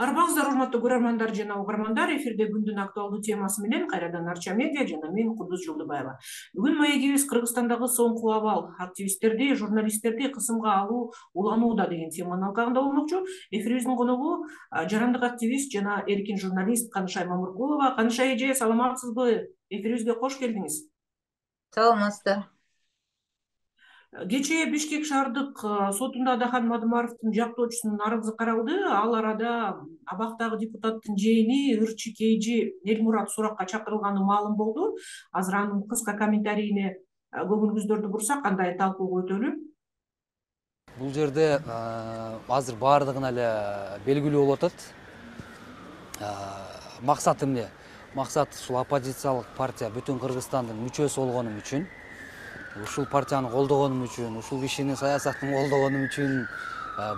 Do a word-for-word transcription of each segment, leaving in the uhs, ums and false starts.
Арбаңыздар, урматтуу көрөрмандар жана угармандар, эфирде күндүн актуалдуу темасы менен кайрадан Арча медиа жана мен Кудус Жолдубаева. Бүгүн маегибиз Кыргызстандагы соңку абал, активисттерди, журналисттерди кысымга алуу уланууда деген теманын алкагында болмокчу. Эфирибиздин коногу жарандык активист жана эркин журналист Канышай Мамыркулова. Канышай эже, саламатсызбы? Эфирибизге кош келдиңиз. Саламатсыздар. Кечээ Бишкек шаардык сотунда Адахан Мадымаровдун жактоочусунун арызы каралды. Ал арада абактагы депутаттын жээни ырчы Кейжи Элмурат суракка чакырылганы маалым болду. Азыр анын кыска комментарийине көңүлүңүздөрдү бурсак, кандай талкууга өтөлү? Бул жерде азыр баардыгына эле белгилүү болуп атат. Максат эмне? Максат ушул оппозициялык партия бүтүн Кыргызстандын мүчөсү болгонум үчүн, ушул партияны колдогонум үчүн, ушул кишини саясатын колдогонум үчүн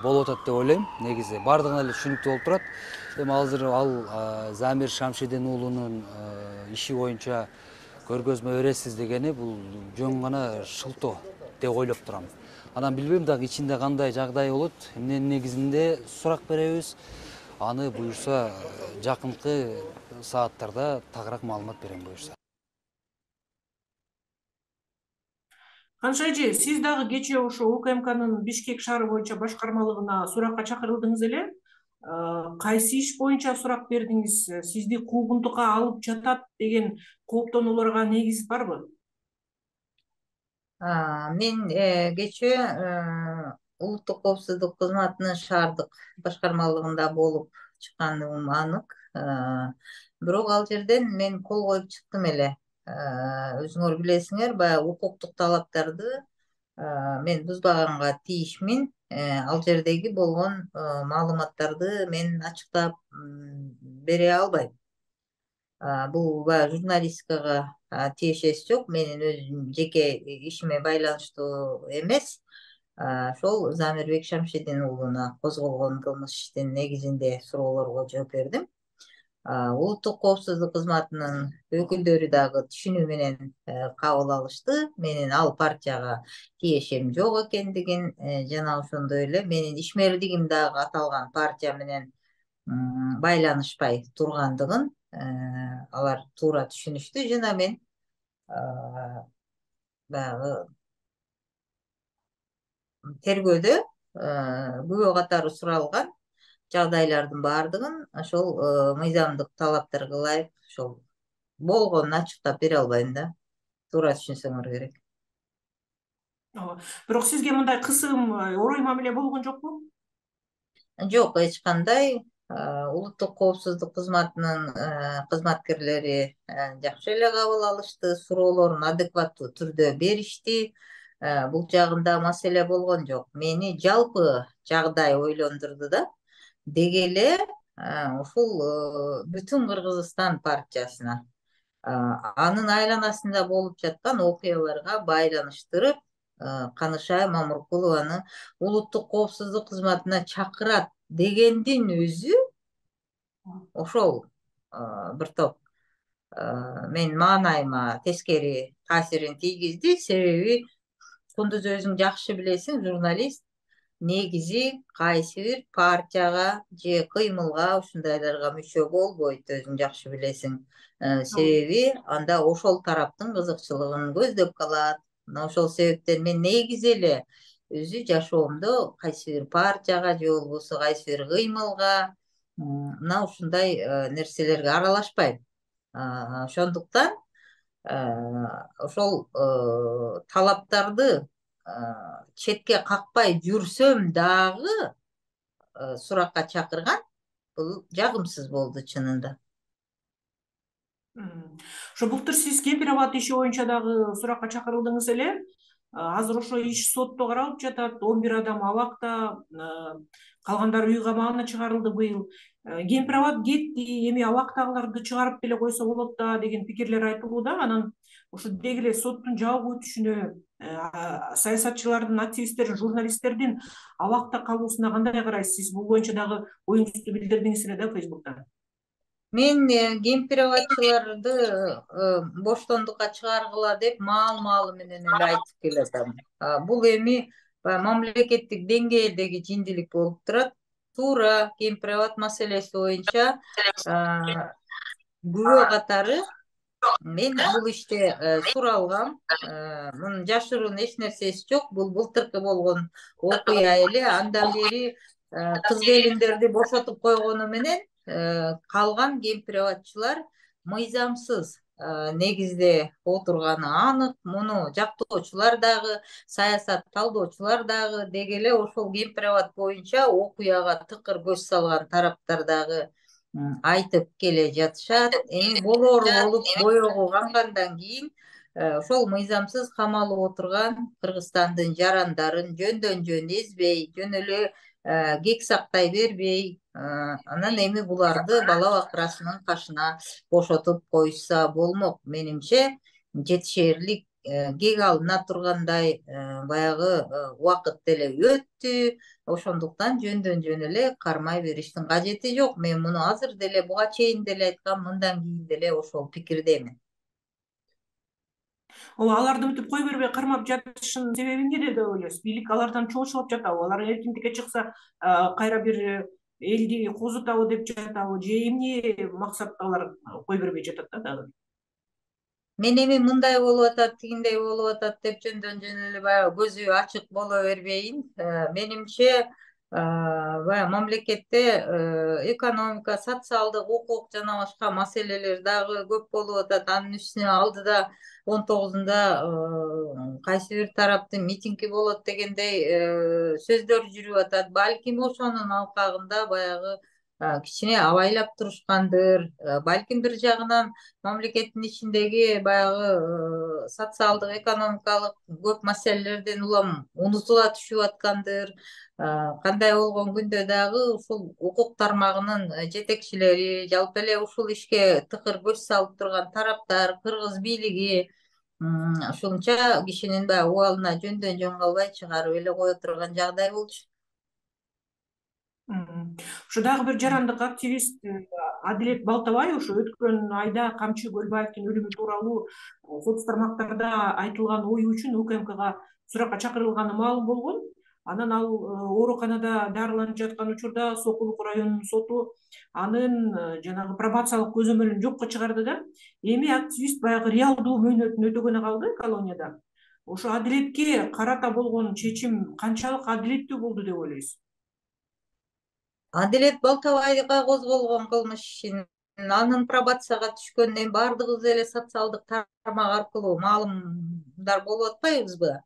болуп атат деп ойлойм. Негизи баардыгына эле түшүнүктүү болуп турат. Эми азыр ал Замир Шамшидин уулунун иши боюнча көргөзмө бересиз дегени бул жөн гана шылтоо деп ойлоп турам. Анан билбейм дагы ичинде кандай жагдай болот. Эмненин негизинде сурак беребиз. Аны буюрса жакынкы сааттарда тагыраак маалымат берем буюрса. Канышай эже, сиз дагы кечээ ошо УКМКнын Бишкек шаары боюнча башкармалыгына суракка чакырылдыңыз эле. Кайсы иш боюнча сурак бердиңиз? Сизди куугунтукка алып жатат деген кооптонууларга негиз барбы? Мен кечээ улуттук коопсуздук кызматынын шаардык башкармалыгында болуп чыкканым анык. Бирок ал жерден мен кол коюп чыктым эле. Өзүңөр билесиңер, баягы укуктук талаптарды мен бузбаганга тийишмин. Ал жердеги болгон маалыматтарды мен ачыктап бере албайм. Бул баягы журналистикага тиешеси жок, менин өзүм жеке ишиме байланыштуу эмес. Ошол Замирбек Шамшидин уулуна козголгон кылмыш иштин негизинде суроолорго жооп бердим. Улуттук коопсуздук кызматынын өкүлдөрү дагы түшүнүү менен кабыл алышты. Менин ал партияга тиешем жок экендигин жана ошондой эле менин ишмердигим дагы аталган партия менен байланышпай тургандыгын алар туура түшүнүштү жана мен баягы тергөөдө күбө катары суралган жагдайлардын баардыгын ошол мыйзамдык талаптарга ылайык ошол болгонун ачыктап бере албайм да. Туура түшүнсөңөр керек. Бирок сизге мындай кысым, орой мамиле болгон жокпу? Жок, эч кандай. Улуттук коопсуздук кызматынын кызматкерлери жакшы эле кабыл алышты, суроолорун адекваттуу түрдө беришти. Бул жагында маселе болгон жок. Мени жалпы жагдай ойлондурду да. Деги эле ушул бүтүн Кыргызстан партиясына, анын айланасында болуп жаткан окуяларга байланыштырып, Канышай Мамыркулованы улуттук коопсуздук кызматына чакырат дегендин өзү ошол бир топ менин маанайыма тескери таасирин тийгизди. Себеби Кундуз өзүң жакшы билесиң, журналист негизи кайсы бир партияга же кыймылга ушундайларга мүчө болбойт, өзүң жакшы билесиң. Себеби анда ошол тараптын кызыкчылыгын көздөп калат. Ошол себептен мен негизи эле өзү жашоомдо кайсы бир партияга же болбосо кайсы бир кыймылга мына ушундай нерселерге аралашпайм. Ошондуктан ошол талаптарды четке какпай жүрсөм дагы суракка чакырган бул жагымсыз болду чынында. Ошо былтыр сиз Кемпир абад иши боюнча дагы суракка чакырылдыңыз эле. Азыр ошо иш сотто каралып жатат. он бир адам абакта, калгандары үй камагына чыгарылды быйыл. Кемпир абад кетти, эми абактагыларды чыгарып деле койсо болот да деген пикирлер айтылууда. Анан ошо деги эле соттун жабык өтүшүнө, саясатчылардын, активисттердин, журналисттердин абакта калуусуна кандай карайсыз? Сиз бул боюнча дагы оюңузду билдирдиңиз эле да Фейсбукта. Мен кемпир абадчыларды боштондукка чыгаргыла деп маал-маалы менен эле айтып келатам. Бул эми мамлекеттик деңгээлдеги жиндилик болуп турат. туура кемпирабад маселеси боюнча күбө катары мен бул иште суралгам. Мунун жашыруун эч нерсеси жок. Бул былтыркы болгон окуя эле. Андан бери кыз келиндерди бошотуп койгону менен калган кемпирабадчылар мыйзамсыз негизде отурганы анык. Муну жактоочулар дагы, саясат талдоочулар дагы деги эле ошол кемпирабад боюнча окуяга тыкыр көз салган тараптар дагы айтып келе жатышат. Эми болоору болуп боёгу кангандан кийин ошол мыйзамсыз камалып отурган Кыргызстандын жарандарын жөндөн жөн эзбей, жөн эле кек сактай бербей, анан эми буларды бала бакырасынын кашына бошотуп коюшса болмок. Менимче жетишээрлик кек алына тургандай баягы убакыт деле өттү. Ошондуктан жөндөн жөн эле кармай бериштин кажети жок. Мен муну азыр деле буга чейин деле айткам, мындан кийин деле ошол пикирдемин. Ооба, аларды мынтип кой бербей кармап жатышынын себеби эмнеде деп ойлойсуз? Бийлик алардан чогулуп жатабы? Алар эркиндикке чыкса, кайра бир элди козутабы деп жатабы? Же эмне максатта алар кой бербей жатат да дагы? Мен эми мындай болуп атат, тигиндей болуп атат деп жөндөн жөн эле баягы көзү ачык боло бербейин. Менимче баягы мамлекетте экономика, социалдык, укук жана башка маселелер дагы көп болуп атат. Анын үстүнө алдыда он тогузунда кайсы бир тараптын митинги болот дегендей сөздөр жүрүп атат. Балким ошонун алкагында баягы кичине абайлап турушкандыр. Балким бир жагынан мамлекеттин ичиндеги баягы социалдык, экономикалык көп маселелерден улам унутула түшүп аткандыр. Кандай болгон күндө дагы ушул укук тармагынын жетекчилери, жалпы эле ушул ишке тыкыр көз салып турган тараптар, кыргыз бийлиги ушунча кишинин баягы убалына жөндөн жөн калбай чыгарып эле кое турган жагдай болчу. Ушу дагы бир жарандык активист Адилет Балтабай ушу өткөн айда Камчы Көлбаевдин өлүмү тууралуу соц тармактарда айтылган ою үчүн УКМКга суракка чакырылганы маалым болгон. Анан ал ооруканада дарыланып жаткан учурда Сокулук районунун соту анын жанагы пробациялык көзөмөлүн жокко чыгарды да. Эми активист баягы реалдуу мөөнөтүн өтөгөнү калды колонияда. Ошо Адилетке карата болгон чечим канчалык адилеттүү болду деп ойлойсуз? Адилет Балтабайга козголгон кылмыш ишин анын пробацияга түшкөнүнөн баардыгыбыз эле социалдык тармак аркылуу маалымдар болуп атпайбызбы?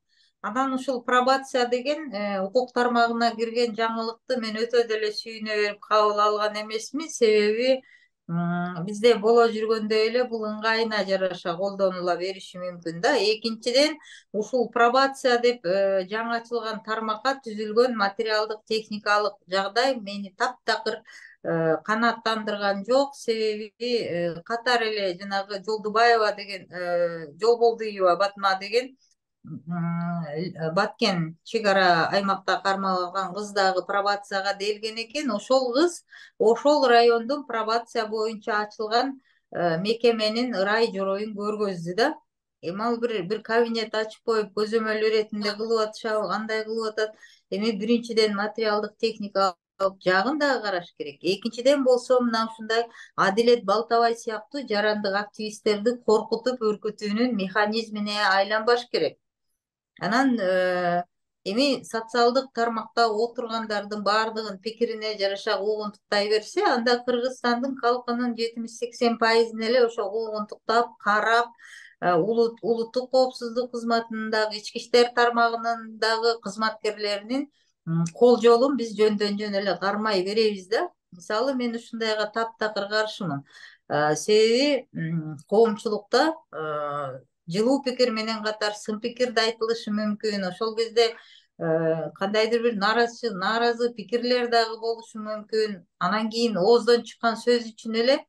Анан ушул пробация деген укук тармагына кирген жаңылыкты мен өтө деле сүйүнө берип кабыл алган эмесмин. Себеби бизде боло жүргөндөй эле бул ыңгайына жараша колдонула бериши мүмкүн да. Экинчиден, ушул пробация деп жаңы ачылган тармакка түзүлгөн материалдык техникалык жагдай мени таптакыр канааттандырган жок. Себеби катар эле жанагы Жолдубаева деген, Жолболдуева Батма деген Баткен чек ара аймакта кармалган кыз дагы пробацияга делген экен. Ошол кыз ошол райондун пробация боюнча ачылган мекеменин ырай жороюн көргөздү да. Эми ал бир бир кабинет ачып коюп көзөмөл иретинде кылып атышабы, кандай кылып атат? Эми биринчиден материалдык техникалык жагын дагы караш керек. Экинчиден болсо мына ушундай Адилет Балтабай сыяктуу жарандык активисттерди коркутуп үркүтүүнүн механизмине айланбаш керек. Анан эми социалдык тармакта отургандардын баардыгын пикирине жараша куугунтуктай берсе, анда Кыргызстандын калкынын жетимиш сексен пайызын эле ошо куугунтуктап, карап, улуттук коопсуздук кызматынын дагы, ички иштер тармагынын дагы кызматкерлеринин кол жолун биз жөндөн жөн эле кармай беребиз да. Мисалы, мен ушундайга таптакыр каршымын. Себеби коомчулукта жылуу пикир менен катар сын пикир да айтылышы мүмкүн. Ошол кезде кандайдыр бир нааразы нааразы пикирлер дагы болушу мүмкүн. Анан кийин ооздон чыккан сөз үчүн эле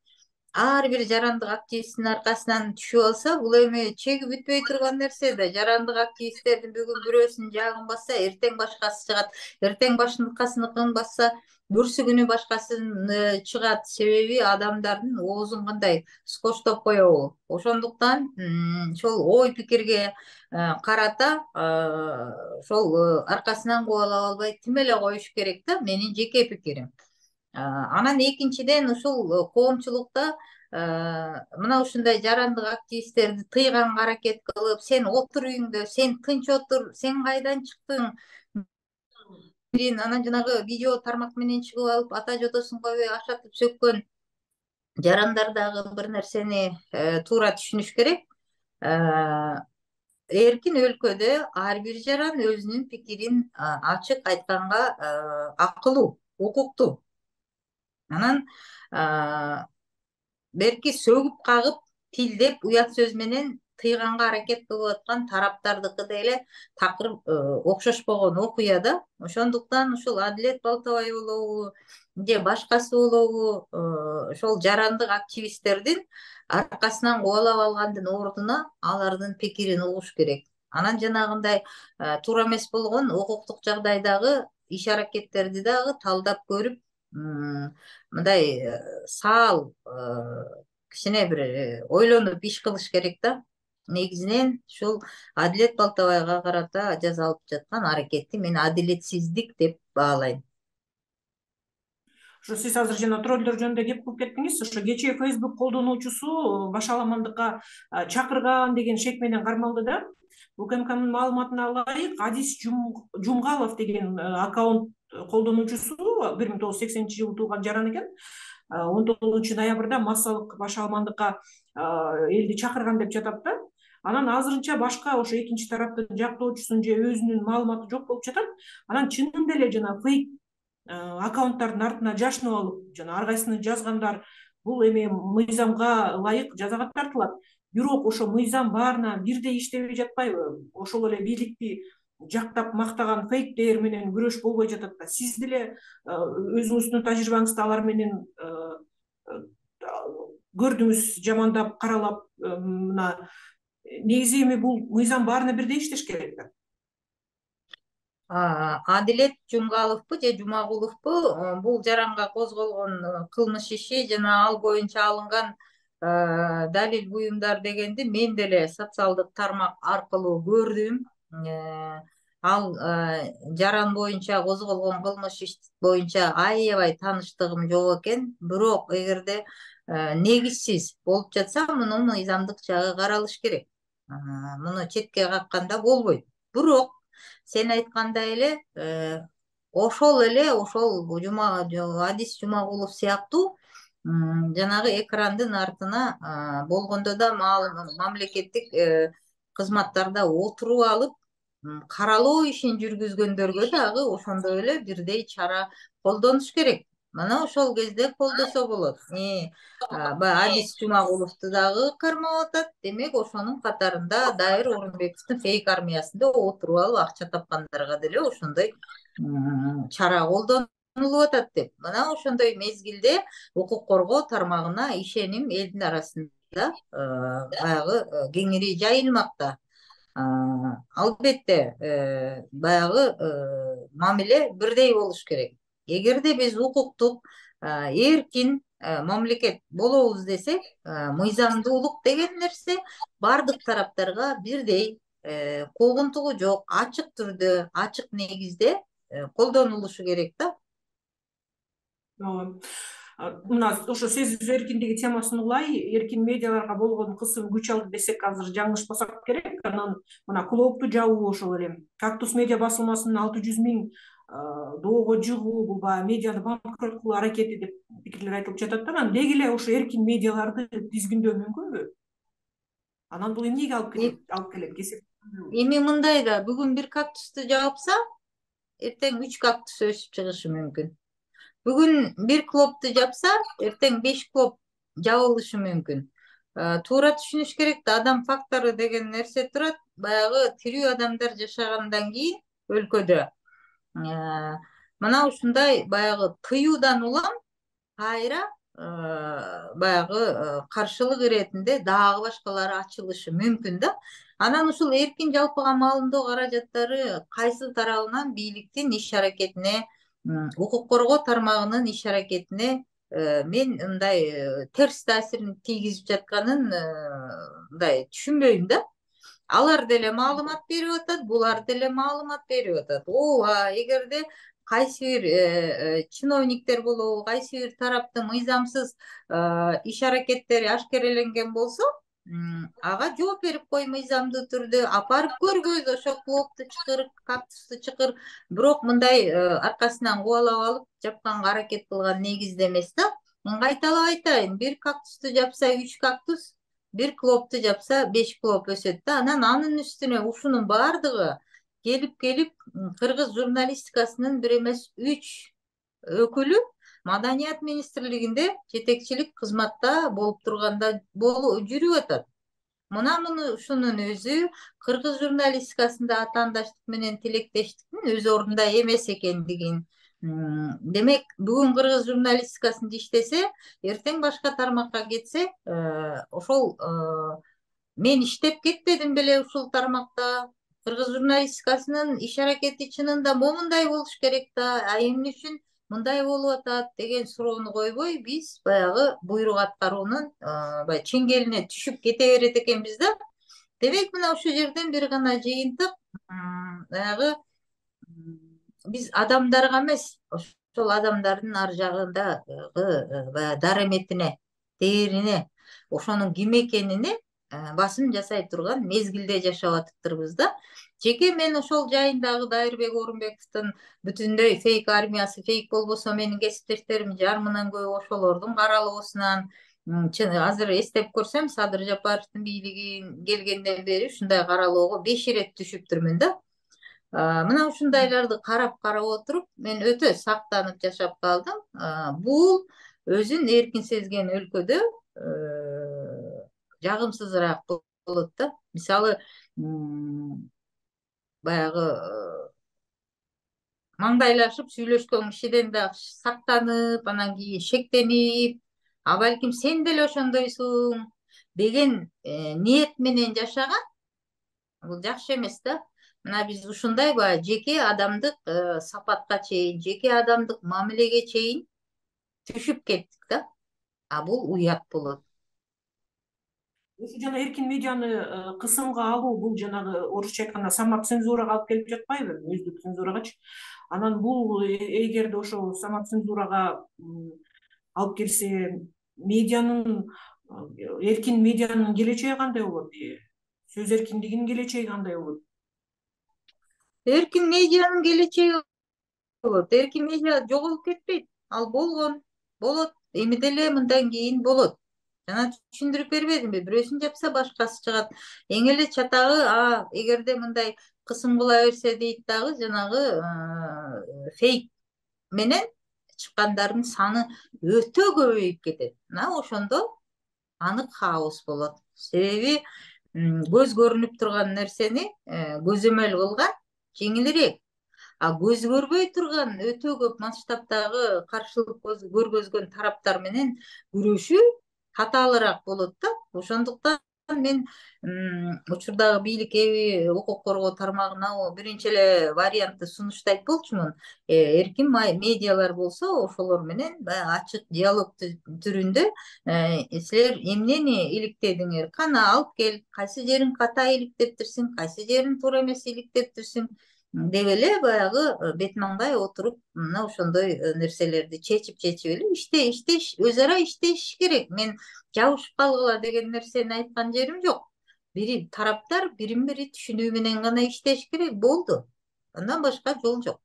ар бир жарандык активисттин аркасынан түшүп алса, бул эми чеги бүтпөй турган нерсе да. Жарандык активисттердин бүгүн бирөөсүнүн жагын басса, эртең башкасы чыгат, эртең башкасыныкын басса, бүрсүгүнү башкасын чыгат, себеби адамдардын оозун кандай скоштоп коебу. Ошондуктан ошол ой пикирге карата ошол аркасынан кубалап албай тим эле коюш керек да, менин жеке пикирим. Анан экинчиден ушул коомчулукта мына ушундай жарандык активисттерди тыйганга аракет кылып, сен отур үйүңдө, сен тынч отур, сен кайдан чыктың, анан жанагы видео тармак менен чыгып алып ата жотосун койбой ашатып сөккөн жарандар дагы бир нерсени туура түшүнүш керек. Эркин өлкөдө ар бир жаран өзүнүн пикирин ачык айтканга акылуу, укуктуу. Анан берки сөгүп кагып, тилдеп, уят сөз менен тыйганга аракет кылып аткан тараптардыкы деле такыр окшошпогон окуя да. Ошондуктан ушул Адилет Балтабай болобу же башкасы болобу ошол жарандык активисттердин аркасынан кубалап алгандын ордуна алардын пикирин угуш керек. Анан жанагындай туура эмес болгон укуктук жагдайдагы иш аракеттерди дагы талдап көрүп, мындай саал кичине бир ойлонуп иш кылыш керек да. Негизинен ушул Адилет Балтабайга карата жасалып жаткан аракетти мен адилетсиздик деп баалайм. Ошо сиз азыр жана троллдор жөнүндө кеп кылып кеттиңиз. Ошо кечээ Facebook колдонуучусу башаламандыкка чакырган деген шек менен кармалды да. УКМКнын маалыматына ылайык, Адис Жумгалов деген аккаунт колдонуучусу бир миң тогуз жүз сексенинчи жылы туулган жаран экен. он тогузунчу ноябрда массалык башаламандыкка элди чакырган деп жатат да. Анан азырынча башка ошо экинчи тараптын жактоочусун же өзүнүн маалыматы жок болуп жатат. Анан чынында эле жана фейк аккаунттардын артына жашынып алып, жана ар кайсыны жазгандар бул эми мыйзамга ылайык жазага тартылат. Бирок ошо мыйзам баарына бирдей иштебей жатпайбы? Ошол эле бийликти жактап мактаган фейктер менен күрөш болбой жатат да. Сиз деле өзүңүздүн тажрыйбаңызды алар менен көрдүңүз, жамандап, каралап, мына негизи эми бул мыйзам баарына бирдей иштеш керек да. Адилет Жумгаловпу же Жумагуловпу бул жаранга козголгон кылмыш иши жана ал боюнча алынган далил буюмдар дегенди мен деле социалдык тармак аркылуу көрдүм. Ал жаран боюнча козголгон кылмыш иш боюнча аябай тааныштыгым жок экен. Бирок эгерде негизсиз болуп жатса, муну мыйзамдык жагы каралыш керек. Муну четке какканда болбойт. Бирок сен айткандай эле ошол эле ошол Адис Жумагулов сыяктуу жанагы экрандын артына болгондо да мамлекеттик кызматтарда отуруп алып каралоо ишин жүргүзгөндөргө дагы ошондой эле бирдей чара колдонуш керек. Мына ошол кезде колдосо болот. Адис Жумагуловду дагы кармап атат. Демек, ошонун катарында Дайыр Орунбековдун фейк армиясында отуруп алып акча тапкандарга деле ошондой чара колдонулуп атат деп. Мына ошондой мезгилде укук коргоо тармагына ишеним элдин арасында баягы кеңири жайылмакта. Албетте, баягы мамиле бирдей болуш керек. Эгерде биз укуктук эркин мамлекет болобуз десек, мыйзамдуулук деген нерсе бардык тараптарга бирдей, куугунтугу жок, ачык түрдө, ачык негизде колдонулушу керек да. Мына ошо сөз эркиндиги темасын улай, эркин медиаларга болгон кысым күч алды десек азыр жаңылышпасак керек. Анан мына клоопту жабуу ошол эле Кактус медиа басылмасынын алты жүз миң доого жыгуу, бул баягы медианы банкрот кылуу аракети деп пикирлер айтылып жатат да. Анан деги эле ошо эркин медиаларды тизгиндөө мүмкүнбү? Анан бул эмнеге алып келет? Алып келет кесип. Эми мындай да, бүгүн бир кактусту жапса, эртең үч кактус өсүп чыгышы мүмкүн. Бүгүн бир клопту жапса, эртең беш клоп жабылышы мүмкүн. Туура түшүнүш керек да, адам фактору деген нерсе турат. Баягы тирүү адамдар жашагандан кийин өлкөдө мына ушундай баягы тыюудан улам кайра баягы каршылык иретинде дагы башкалары ачылышы мүмкүн да. Анан ушул эркин жалпыга маалымдоо каражаттары кайсы тарабынан бийликтин иш аракетине укук коргоо тармагынын иш аракетине мен мындай терс таасирин тийгизип жатканын мындай түшүнбөйм да. Алар деле маалымат берип атат, булар деле маалымат берип атат. Ооба, эгерде кайсы бир чиновниктер болобу, кайсы бир тараптын мыйзамсыз иш аракеттери ашкереленген болсо, ага жооп берип кой мыйзамдуу түрдө, апарып көргөз ошо клопту чыкыр, кактусту чыкыр. Бирок мындай аркасынан кубалап алып жапканга аракет кылган негизде эмес да. Мен кайталап айтайын, бир кактусту жапса үч кактус, бир клопту жапса беш клоп өсөт да. Анан анын үстүнө ушунун баардыгы келип-келип кыргыз журналистикасынын бир эмес үч өкүлү Маданият министрлигинде жетекчилик кызматта болуп турганда болуп жүрүп атат. Мына муну ушунун өзү кыргыз журналистикасында атаандаштык менен тилектештиктин өз ордунда эмес экендигин. Демек, бүгүн кыргыз журналистикасында иштесе, эртең башка тармакка кетсе, ошол мен иштеп кетпедим беле ушул тармакта. Кыргыз журналистикасынын иш аракети чынында момундай болуш керек да, а эмне үчүн мындай болуп атат деген суроону койбой, биз баягы буйрук аткаруунун баягы чеңгелине түшүп кете берет экенбиз да. Демек, мына ушул жерден бир гана жыйынтык, баягы биз адамдарга эмес, ошол адамдардын ар жагындагы баягы дараметине, дээрине, ошонун ким экенине басым жасай турган мезгилде жашап атыптырбыз да. Жеке мен ошол жайындагы Дайырбек Орунбековдун бүтүндөй фейк армиясы, фейк болбосо менин кесиптештерим жарымынан көбү ошолордун каралоосунан, азыр эстеп көрсөм, Садыр Жапаровдун бийлигин келгенден бери ушундай каралоого беш ирет түшүптүрмүн да. Мына ушундайларды карап-карап отуруп, мен өтө сактанып жашап калдым. Бул өзүн эркин сезген өлкөдө жагымсызыраак болот да. Мисалы, баягы маңдайлашып сүйлөшкөн кишиден да сактанып, анан кийин шектенип, а балким сен деле ошондойсуң деген ниет менен жашаган, бул жакшы эмес да. Мына биз ушундай баягы жеке адамдык сапатка чейин, жеке адамдык мамилеге чейин түшүп кеттик да. А бул уят болот. Ушу жана эркин медианы кысымга алуу, бул жанагы орусча айтканда самоцензурага алып келип жатпайбы, өздүк цензурагачы. Анан бул эгерде ошол самоцензурага алып келсе, медианын, эркин медианын келечеги кандай болот? Сөз эркиндигинин келечеги кандай болот? Эркин медианын келечеги болот. Эркин медиа жоголуп кетпейт. Ал болгон, болот. Эми деле мындан кийин болот. Жана түшүндүрүп бербедимби? Бирөөсүн жапса башкасы чыгат. Эң эле чатагы, а эгерде мындай кысым кыла берсе дейт дагы, жанагы фейк менен чыккандардын саны өтө көбөйүп кетет. Мына ошондо анык хаос болот. Себеби көз көрүнүп турган нерсени көзөмөл кылган жеңилирээк. А көз көрбөй турган өтө көп масштабтагы каршылык көргөзгөн тараптар менен күрөшүү татаалыраак болот да. Ошондуктан мен учурдагы бийлик эби укук коргоо тармагына биринчи эле вариантты сунуштайт болчумун. Эркин медиалар болсо, ошолор менен баягы ачык диалог түрүндө силер эмнени иликтедиңер, кана алып кел, кайсы жерин ката иликтептирсиң, кайсы жерин туура эмес иликтептирсиң деп эле баягы бет маңдай отуруп, мына ошондой нерселерди чечип-чечип эле иште иштеш, өз ара иштешиш керек. Мен жабышып калгыла деген нерсени айткан жерим жок. Бири тараптар бирин бири түшүнүү менен гана иштеш керек, болду. Андан башка жол жок.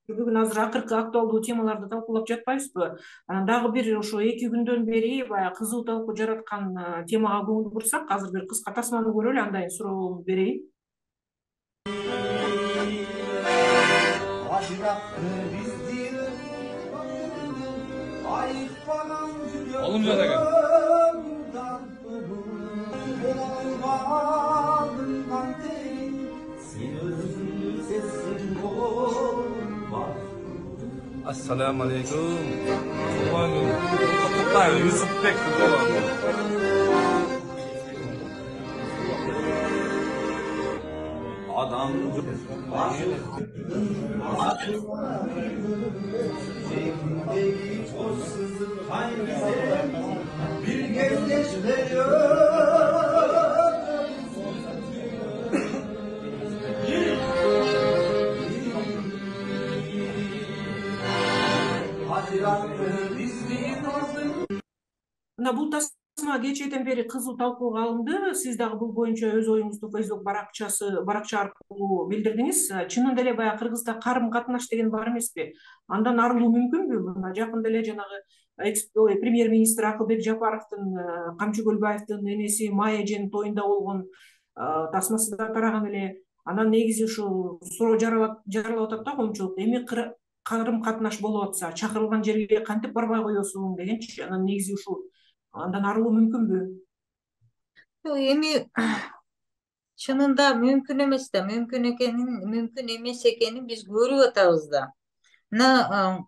Бүгүн азыр акыркы актуалдуу темаларды талкуулап жатпайбызбы? Анан дагы бир ошо эки күндөн бери баягы кызуу талкуу жараткан темага көңүл бурсак, азыр бир кыска тасманы көрөлү, андан кийин суроо берейин. Oğlum ne degan? Assalamu alaikum. Kutluktay Yusufbek kutluyor. Adam bir genç veriyor. Haziranlı bizim olsun. Мына бул тасма кечээден бери кызуу талкууга алынды. Сиз дагы бул боюнча өз оюңузду Facebook баракчасы баракча аркылуу билдирдиңиз. Чынында эле баягы Кыргызда карым катнаш деген бар эмеспи? Андан арылуу мүмкүнбү? Мына жакында эле жанагы премьер-министр Акылбек Жапаровдун, Камчы Көлбаевдин энеси Майя эженин тоюнда болгон тасмасы да тараган эле. Анан негизи ушул суроо жаралап атат да коомчулук. Эми карым катнаш болуп атса, чакырылган жерге кантип барбай коесуң дегенчи. Анан негизи ушул андан арылуу мүмкүнбү? Жок, эми чынында мүмкүн эмес да, мүмкүн экенин, мүмкүн эмес экенин биз көрүп атабыз да. Мына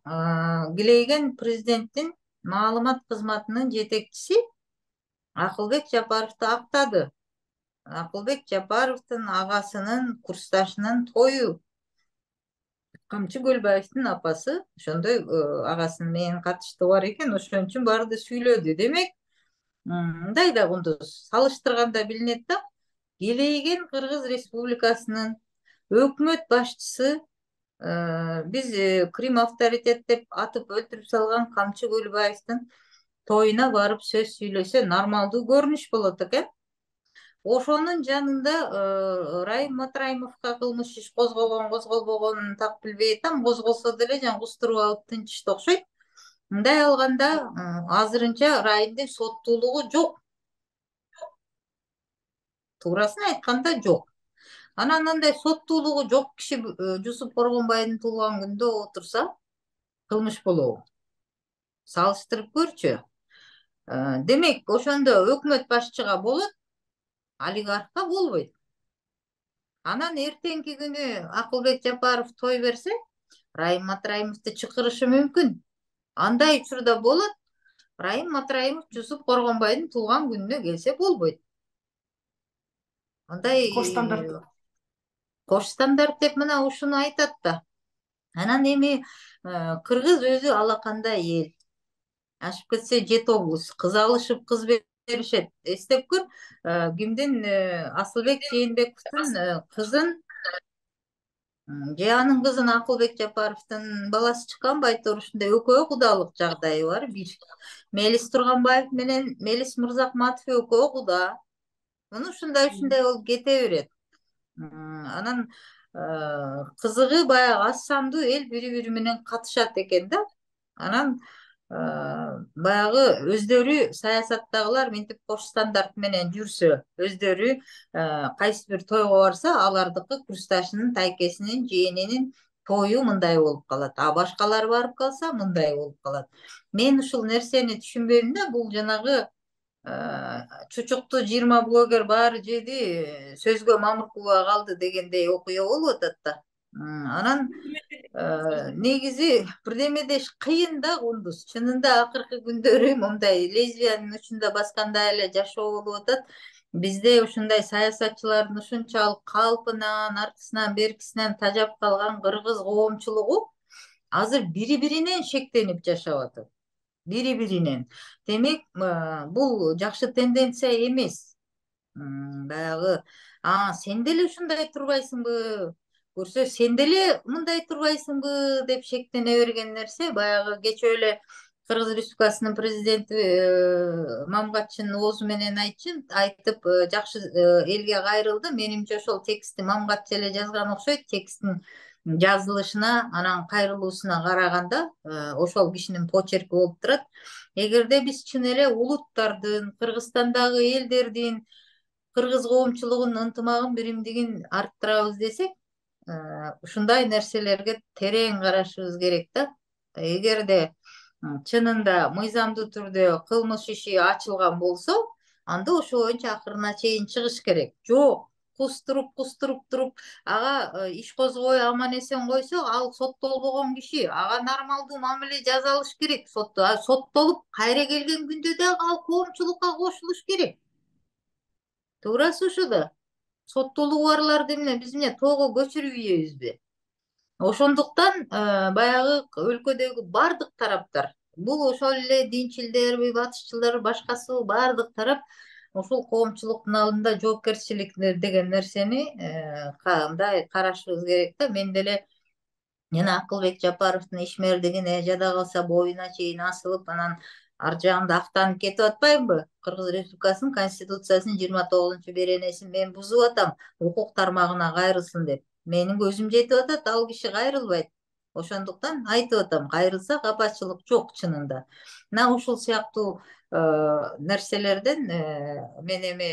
Килейген президенттин маалымат кызматынын жетекчиси Акылбек Жапаровду актады. Акылбек Жапаровдун агасынын курсташынын тою. Камчы Көлбаевдин апасы ошондой агасынын менен катыштыгы бар экен, ошон үчүн барды сүйлөдү. Демек, мындай да кундуз салыштырганда билинет да, Килейген Кыргыз Республикасынын өкмөт башчысы, биз Крим авторитет деп атып өлтүрүп салган Камчы Көлбаевдин тоюна барып сөз сүйлөсө нормалдуу көрүнүш болот экен. Ошонун жанында Райым Матраимовго кылмыш иш козголгон, козголбогонун так билбей атам, козголсо деле жана кустуруп алып тынчышты окшойт. Мындай алганда азырынча Райымдын соттуулугу жок. Туурасын айтканда жок. Анан андай соттуулугу жок киши Жусуп Коргонбайдын туулган күнүндө отурса, кылмыш болобу? Салыштырып көрчү. Демек, ошондо өкмөт башчыга болот, олигархка болбойт. Анан эртеңки күнү Акылбек Жапаров той берсе, Райым Матраимовду чакырышы мүмкүн. Андай учурда болот, Райым Матраимов Жусуп Коргонбайдын туулган күнүнө келсе болбойт. Андай Кош стандарт. Кош стандарт деп мына ушуну айтат да. Анан эми Кыргыз өзү алакандай эл. Ашып кетсе жети облус, кыз алышып кыз беришет. Эстеп көр, кимдин Асылбек Жээнбековдун кызын же анын кызын Акылбек Жапаровдун баласы чыккан байтор, ушундай экөө кудалык жагдайы бар. Бир Мелис Турганбаев менен Мелис Мырзакматов экөө куда. Муну ушундай ушундай болуп кете берет. Анан кызыгы баягы аз сандуу эл бири-бири менен катышат экен да. Анан баягы өздөрү саясаттагылар мынтип кош стандарт менен жүрсө, өздөрү кайсы бир тойго барса, алардыкы курсташынын, тайкесинин, жээнинин тою мындай болуп калат. А башкалар барып калса, мындай болуп калат. Мен ушул нерсени түшүнбөйм да. Бул жанагы чучукту жыйырма блогер баары жеди, сөзгө мамыркуба калды дегендей окуя болуп атат да. Анан негизи бирдеме деш кыйын да кундуз. Чынында акыркы күндөрү мындай лесбиянын учунда баскандай эле жашоо болуп атат. Бизде ушундай саясатчылардын ушунчалык калпынан, артысынан, беркисинен тажап калган кыргыз коомчулугу азыр бири-биринен шектенип жашап атат. Бири-биринен. Демек, бул жакшы тенденция эмес. Баягы, а сен деле ушундай турбайсыңбы? Көрсө, сен деле мындай турбайсыңбы деп шектене берген нерсе, баягы кечээ эле Кыргыз Республикасынын президенти Мамгатчынын оозу менен айтып, жакшы элге кайрылды. Менимче ошол текстти Мамгатчы эле жазган окшойт. Тексттин жазылышына, анан кайрылуусуна караганда ошол кишинин почерки болуп турат. Эгерде биз чын эле улуттардын, Кыргызстандагы элдердин, кыргыз коомчулугунун ынтымагын, биримдигин арттырабыз десек, ушундай нерселерге терең карашыбыз керек да. Эгерде чынында мыйзамдуу түрдө кылмыш иши ачылган болсо, анда ошол боюнча акырына чейин чыгыш керек. Жок, кустуруп кустуруп туруп, ага иш козгобой аман эсен койсо, ал соттолбогон киши, ага нормалдуу мамиле жасалыш керек. Соттолуп кайра келген күндө дагы ал коомчулукка кошулуш керек. Туурасы ушу да. соттуулугу барларды эмне биз эмне тоого көчүрүп ийебизби? Ошондуктан баягы өлкөдөгү бардык тараптар, бул ошол эле динчилдерби, батышчылар, башкасы бардык тарап ушул коомчулуктун алдында жоопкерчилик деген нерсени мындай карашыбыз керек да. Мен деле жана Акылбек Жапаровдун ишмердигине жада калса боюна чейин асылып, анан ар жагында актанып кетип атпаймынбы? Кыргыз Республикасынын Конституциясынын жыйырма тогузунчу беренесин мен бузуп атам, укук тармагына кайрылсын деп. Менин көзүм жетип атат, ал киши кайрылбайт. Ошондуктан айтып атам, кайрылса капачылык жок чынында. Мына ушул сыяктуу нерселерден мен эми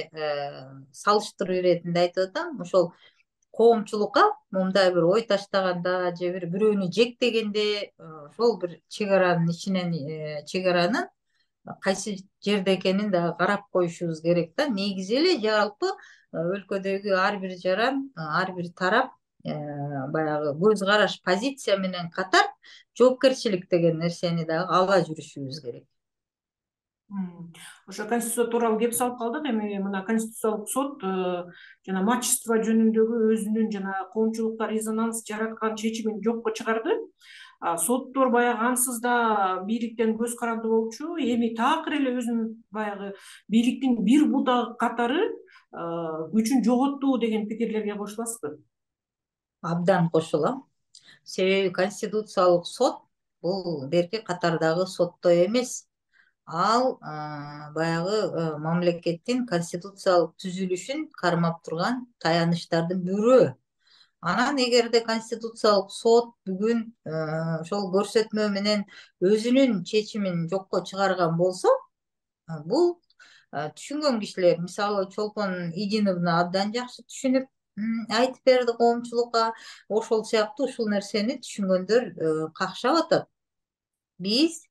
салыштыруу иретинде айтып атам. Ошол коомчулукка мындай бир ой таштаганда же бир бирөөнү жектегенде ошол бир чек аранын ичинен чек аранын кайсы жерде экенин дагы карап коюшубуз керек да. Негизи эле жалпы өлкөдөгү ар бир жаран, ар бир тарап баягы көз караш, позиция менен катар жоопкерчилик деген нерсени дагы ала жүрүшүбүз керек. Ошо конституция тууралуу кеп салып калдык. Эми мына Конституциялык сот жана матчество жөнүндөгү өзүнүн жана коомчулукта резонанс жараткан чечимин жокко чыгарды. Соттор баягы ансыз да бийликтен көз каранды болчу. Эми такыр эле өзүнүн баягы бийликтин бир будак катары күчүн жоготту деген пикирлерге кошуласызбы? Абдан кошулам. Себеби Конституциялык сот бул берки катардагы соттой эмес. Ал баягы мамлекеттин конституциялык түзүлүшүн кармап турган таяныштардын бирөө. Анан эгерде Конституциялык сот бүгүн ошол көрсөтмө менен өзүнүн чечимин жокко чыгарган болсо, бул түшүнгөн кишилер, мисалы Чолпон Идиновна абдан жакшы түшүнүп айтып берди коомчулукка. Ошол сыяктуу ушул нерсени түшүнгөндөр какшап атат. Биз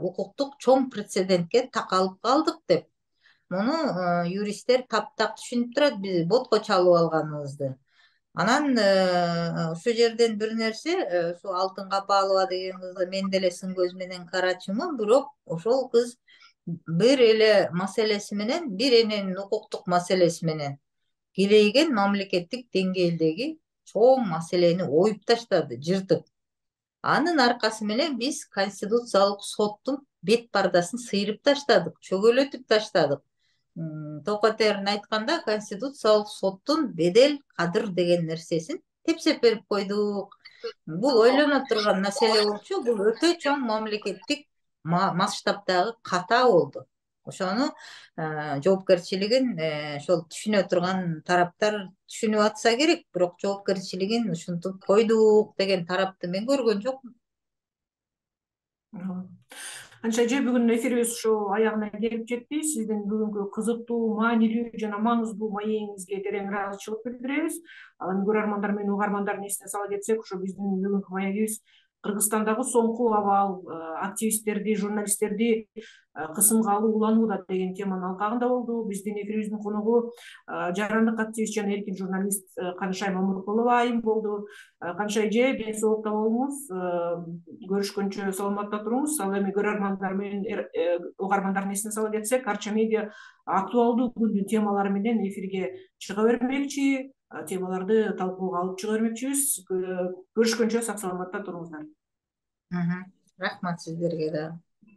укуктук чоң прецедентке такалып калдык деп. Муну юристтер таптак түшүнүп турат, биз ботко чалып алганыбызды. Анан ошол жерден бир нерсе, ушу Алтын Капалова деген кызды мен деле сын көз менен карачумун, бирок ошол кыз бир эле маселеси менен, бир эненин укуктук маселеси менен кирейген мамлекеттик деңгээлдеги чоң маселени оюп таштады, жыртып. Анын аркасы менен биз Конституциялык соттун бет пардасын сыйрып таштадык, чөгөлөтүп таштадык. Токотерин айтканда, Конституциялык соттун бедел кадыр деген нерсесин тепсеп берип койдук. Бул ойлоно турган маселе болчу, бул өтө чоң мамлекеттик масштабдагы ката болду. Ошону жоопкерчилигин ошол түшүнө турган тараптар түшүнүп атса керек, бирок жоопкерчилигин ушинтип койдук деген тарапты мен көргөн жокмун. Анча же бүгүн эфирибиз ушу аягына келип жетти. Сиздин бүгүнкү кызыктуу, маанилүү жана маңыздуу маегиңизге терең ыраазычылык билдиребиз. Ал эми көрөрмандар менен угармандардын эсине сала кетсек, ушу биздин бүгүнкү маегибиз Кыргызстандагы соңку абал, активисттерди, журналисттерди кысымга алуу уланууда деген теманын алкагында болду. Биздин эфирибиздин коногу жарандык активист жана эркин журналист Канышай Мамыркулова айым болду. Канышай эже, ден соолукта болуңуз, көрүшкөнчө саламатта туруңуз. Ал эми көрөрмандар менен угармандардын эсине сала кетсек, Арча медиа актуалдуу күндүн темалары менен эфирге чыга бермекчи, темаларды талкууга алып чыга бермекчибиз. Көрүшкөнчө сак саламатта туруңуздар. Рахмат сиздерге да.